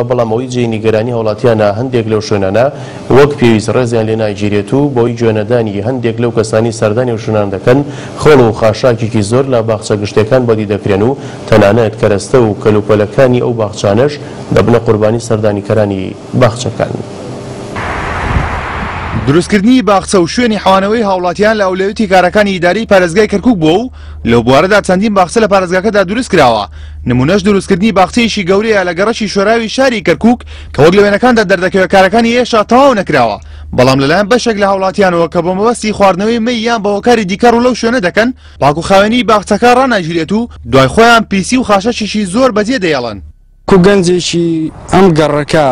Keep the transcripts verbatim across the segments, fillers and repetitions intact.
بەڵام ئەوەی جێی نیگەرانی هاوڵاتیانە هەندێک لەو شوێنانە وەک پێویست ڕێزیان لێ ناگیرێت و بۆی گوێنەدانی هەندێک لەو کەسانی سەردانی و شوێنان دەکەن خۆڵ و خاشاکێکی زۆر لە باخچە گشتیەکان بەدی دەکرێن و تەنانەت کەرەستە و کەلوپەلەکانی ئەو باخچانەش دەبنە قوربانی سەردانیکەرانی باخچەکان. دروستکردنی باخچە و شوێنی حەوانەوەی هاوڵاتیان لە ئەولەویەتی کارەکانی ئیداری پارێزگای کەرکوک بووە و لەو بوارەدا چەندین باخچە لە پارێزگاکەدا دروست کراوە. نمونەش دروستکردنی باخچەیەکی گەورەیە لە گەڕەکی شۆراوی شاری کەرکوک کە وەک لە وێنەکاندا دەردەکەوێت کارەکانی هێشتا تەواو نەکراوە، بەڵام لەلایەن بەشێک لە هاوڵاتیانەوە کە بۆ مەبەستی خواردنەوەی مەی یان بە هۆکاری دیکە ڕوو لەو شوێنە دەکەن پاک و خاوێنی باخچەکە ڕاناگیرێت و دوای خۆیان پیسی و خاشەکێکی زۆر بەجێ دەیەڵن. کو گەنجێکی ئەم گەڕەکە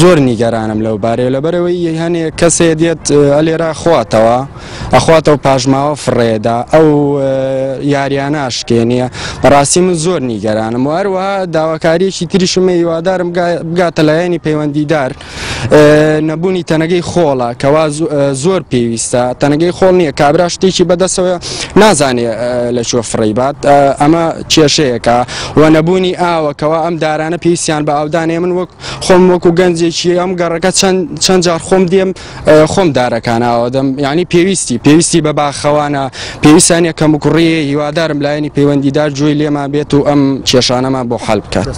زۆر نیگەرانم لەو بارەیە، لەبەرەوەی هەنێک کەسێ دێت ئەلێرە خواتەوە ئەخواتەوە پاشماوە فڕێدا ئەو یاریانە ئاشکێنیە. بەڕاستی من زۆر نیگەرانم و هەروەها داواکاریەکی تریشم هیوادارم بگاتە لایەنی پەیوەندیدار نەبوونی تەنەگەی خۆڵە کەوا زۆر پێویستە. تەنەگەی خۆڵ نییە، کابرا شتێکی بەدەستەوە نازانێ لە کوێ فڕێی بات، ئەمە کێشەیەکە. و نەبوونی ئاوە کەوا ئەم دارانە پێویستیان بە ئاودانێ. من وەک خۆم وەکو گەنجێکی ئەم گەڕەکە چەند جار خۆم دێم خۆم دارەکان ئاوادەم، یعنی پێویستی پێویستی بە باخەوانە، پێویستانە کەموکوڕیە. هیوادارم لایەنی پەیوەندیدار گوێی لێمان بێت و ئەم کێشانەمان بۆ حەل بکات.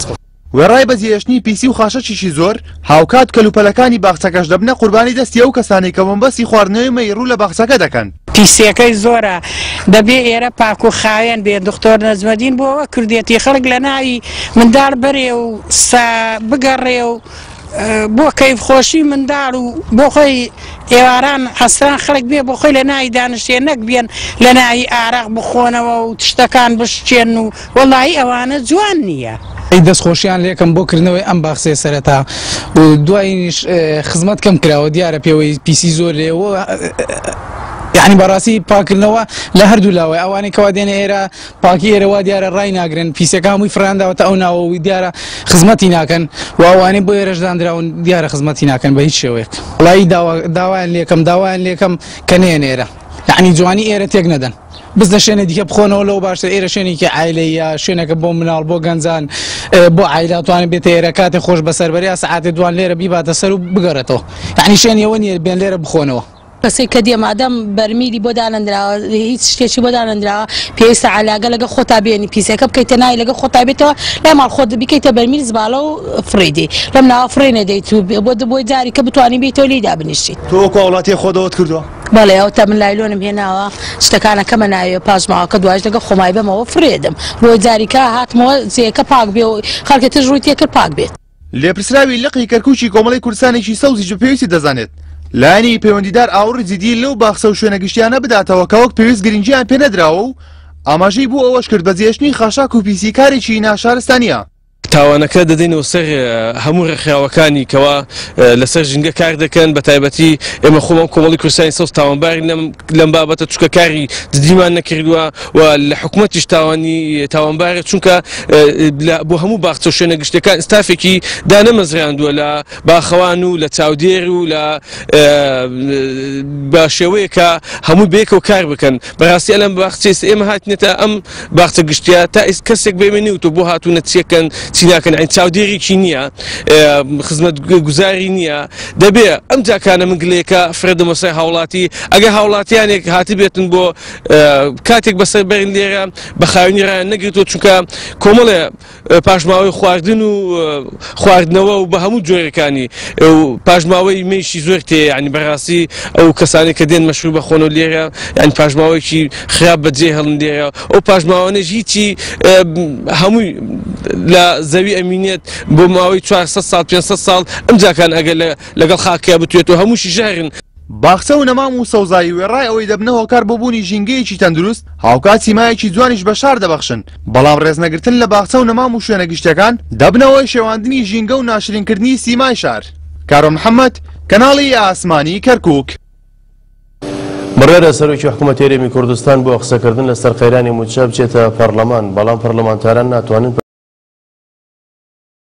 وێڕای بەجێهێشتنی پیسی و خاشەکێکی زۆر، هاوکات کەلوپەلەکانی باخچەکەش دەبنە قوربانی دەستی ئەو کەسانەی کە مەبەستی خواردنەوەی مەی ڕوو لە باخچەکە دەکەن. پیسیەکەی زۆرە، دەبێ ئێرە پاک و خاوێن بێ. دکتۆر نەجمەدین بۆ ئەوە کردێتی خەڵک لە ناوی منداڵ بەرێ و بگەڕێ و بۆ کەیفخۆشی منداڵ و بۆ خۆی ئێواران عەسران خەڵک بێ بۆ خۆی لە ناوی دانیشتێ، نەک بێن لە ناوی ئارەق بخۆنەوە و تشتەکان بشکێن و وەڵایی ئەوانە جوان نییە. دەستخۆشیان لێکم بۆ کردنەوەی ئەم باخچەیە سەرەتا و دوایینیش خزمەت کەم کراوە، دیارە پێوەی پیسی زۆر لێوە، یعنی بەڕاستی پاکردنەوە لە هەردوو لاوەی ئەوانەی کەوا دێنە ئێرە پاکی ئێرە وا دیارە ڕای ناگرن، پیسەکە هەمووی فڕانداوەتە ئەو ناوە و دیارە خزمەتی ناکەن و ئەوانەی بۆ ئێرەش دانراون دیارە خزمەتی ناکەن بە هیچ شێوەیەک. وڵایی داوایان لێکەم داوایان لێکەم کە نێن ئێرە، یعنی جوانی ئێرە تێک نەدەن، بزنە شوێنە دیکە بخۆنەوە لەو باشتر. ئێرە شوێنێکی عایلەیە، شوێنێکە بۆ مناڵ، بۆ گەنجان، بۆ عایلە توانێت بێتە ئێرە کاتێ خۆش بەسەر بەرێ، سەعاتێ دوان لێرە بیباتە سەر و بگەڕێتەوە. یعنی شوێنی ئەوە نییە بێن لێرە بخۆنەوە. کەسێک کە دێ مادەم بەرمیلی بۆ دانەندراوە، هیچ شتێکی بۆ دانەندراوە، پێویستە علاگە لەگە خۆتا بێنی، پیسەکە بکەیتە ناوی لەگە خۆتا بێتەوە لای ماڵ خۆت بیکەیتە بەرمیل زباڵە و فڕێ دێی لەم ناوە فڕێ نەدەیت و بۆ بۆی جاری کە بتوانی بێیتەوە لێی دابنیشیت. تۆ وەکو هاوڵاتیە خۆتەوەت کردووە؟ بەڵێ، ئەو تا من لایلۆنم هێناوە، شتەکانەکەمە ناوێ پاشماوەکە دوایش لەگە خۆمای بەمەوە فڕێدم بۆ جاریکە هاتمەوە جێیەکە پاک بێ و خەڵکە تر ڕووی تێکرد پاک بێت. لێپرسراوی لقی کەرکوکی کۆمەڵی کوردستانێکی سەوزیش بە پێویستی دەزانێت لایەنی پەیوەندیدار ئاوڕی جدی لەو باخچە و شوێنە گشتیانە بداتەوە کە وەک پێویست گرنگیان پێ نەدراوە و ئاماژەی بۆ ئەوەش کرد بەجێهێشتنی خاشاک و پیسی کارێکی ناشارستانیە. تاوانەکە دەدەینەوە سەر هەموو ڕێکخراوەکانی کەوا لەسەر ژینگە کار دەکەن، بە تایبەتی ئێمە خۆمان کۆمەڵی کوردستانی سەوز تاوانبارین لەم بابەتە، چونکە کاری جدیمان نەکردووە و لە حکوومەتیش تاوانی تاوانبارە، چونکە بۆ هەموو باخچە و شوێنە گشتیەکان ستافێکی دانەمەزراندووە لە باخەوان و لە چاودێر و لە بە شێوەیەکە هەموو بەیەکەوە کار بکەن. بەڕاستی ئەلەم باخچەی ئێمە هاتینەتە ئەم باخچە گشتیە تا کەسێک بێمە نیوتۆ بۆ هاتوونە چیەکەن چی ناکەن، یعنی چاودێریکی نییە، خزمەت گوزاری نییە. دەبێ ئەم جاکانە من گلەیەکە فرێدەمە سەر هاوڵاتی، ئەگەر هاوڵاتیانێک هاتبێتن بۆ کاتێک بەسەر بەرن لێرە بە خاوێنی ڕایان نەگرتووە، چونکە کۆمەڵێ پاشماوەی خواردن و خواردنەوە و بە هەموو جۆرەکانی پاشماوەی مێشی زۆر تێ، یعنی بەڕاستی ئەو کەسانێک کە دێن مەشروب بەخۆنەوە لێرە، یعنی پاشماوەیەکی خراپ بەجێ هەڵن لێرە، ئەو پاشماوانەش هیچی هەمووی لە زەوی ئەمینێت بۆ ماوەی چوارسەد ساڵ پێنجسەد ساڵ ئەم جاکان ئەگەر لەگەڵ خاکیا بتوێتەوە هەمووشی ژەهرن. باخچە و نەمام و سەوزایی وێڕای ئەوەی دەبنە هۆکار بۆ بوونی ژینگەیەکی تەندروست، هاوکات سیمایەکی جوانیش بە شار دەبەخشن، بەڵام ڕێزنەگرتن لە باخچە و نەمام و شوێنە گشتیەکان دەبنەوەی شێواندنی ژینگە و ناشرینکردنی سیمای شار. کارۆ محەممەد، کەناڵی ئاسمانی کەرکوک. بڕیارە سەرۆکی حکوومەتی هەرێمی کوردستان بۆ قسەکردن لەسەر قەیرانی مووچە بچێتە پەرلەمان، بەڵام پەرلەمانتاران ناتوانن